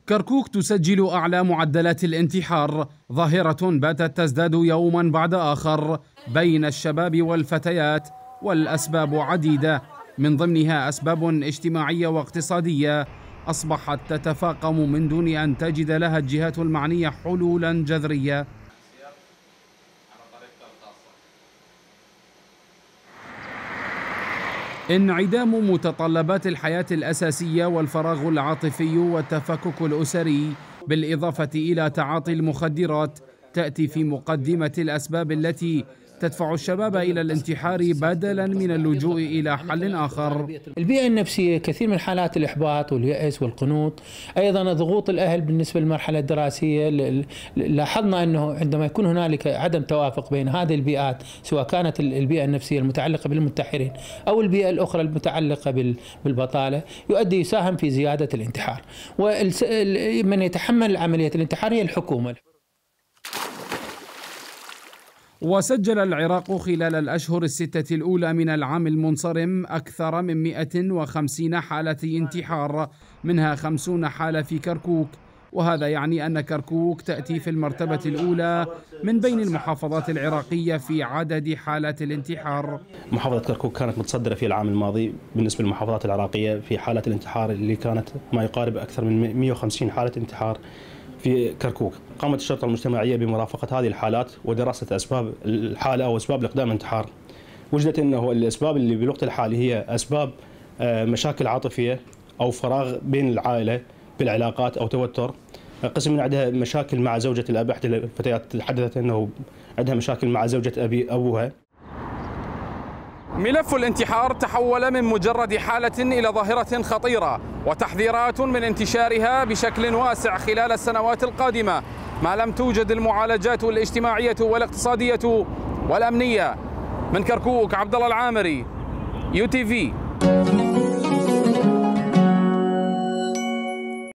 كركوك تسجل أعلى معدلات الانتحار، ظاهرة باتت تزداد يوما بعد آخر بين الشباب والفتيات، والأسباب عديدة، من ضمنها أسباب اجتماعية واقتصادية أصبحت تتفاقم من دون أن تجد لها الجهات المعنية حلولا جذرية. انعدام متطلبات الحياة الأساسية والفراغ العاطفي والتفكك الأسري بالإضافة إلى تعاطي المخدرات تأتي في مقدمة الأسباب التي تدفع الشباب إلى الانتحار بدلا من اللجوء إلى حل آخر. البيئة النفسية، كثير من حالات الإحباط واليأس والقنوط، أيضا ضغوط الأهل بالنسبة للمرحلة الدراسية. لاحظنا أنه عندما يكون هنالك عدم توافق بين هذه البيئات، سواء كانت البيئة النفسية المتعلقة بالمنتحرين أو البيئة الأخرى المتعلقة بالبطالة، يساهم في زيادة الانتحار. ومن يتحمل عملية الانتحار هي الحكومة. وسجل العراق خلال الأشهر الستة الأولى من العام المنصرم أكثر من 150 حالة انتحار، منها 50 حالة في كركوك، وهذا يعني أن كركوك تأتي في المرتبة الأولى من بين المحافظات العراقية في عدد حالات الانتحار. محافظة كركوك كانت متصدرة في العام الماضي بالنسبة للمحافظات العراقية في حالات الانتحار، اللي كانت ما يقارب أكثر من 150 حالة انتحار في كركوك. قامت الشرطة المجتمعية بمرافقة هذه الحالات ودراسة أسباب الحالة أو أسباب الإقدام الانتحار. وجدت أنه الأسباب اللي بالوقت الحالي هي أسباب مشاكل عاطفية أو فراغ بين العائلة بالعلاقات أو توتر. قسم من عندها مشاكل مع زوجة الأب، إحدى الفتيات تحدثت أنه عندها مشاكل مع زوجة أبوها. ملف الانتحار تحول من مجرد حالة إلى ظاهرة خطيرة، وتحذيرات من انتشارها بشكل واسع خلال السنوات القادمة ما لم توجد المعالجات الاجتماعية والاقتصادية والأمنية. من كركوك، عبد الله العامري، UTV.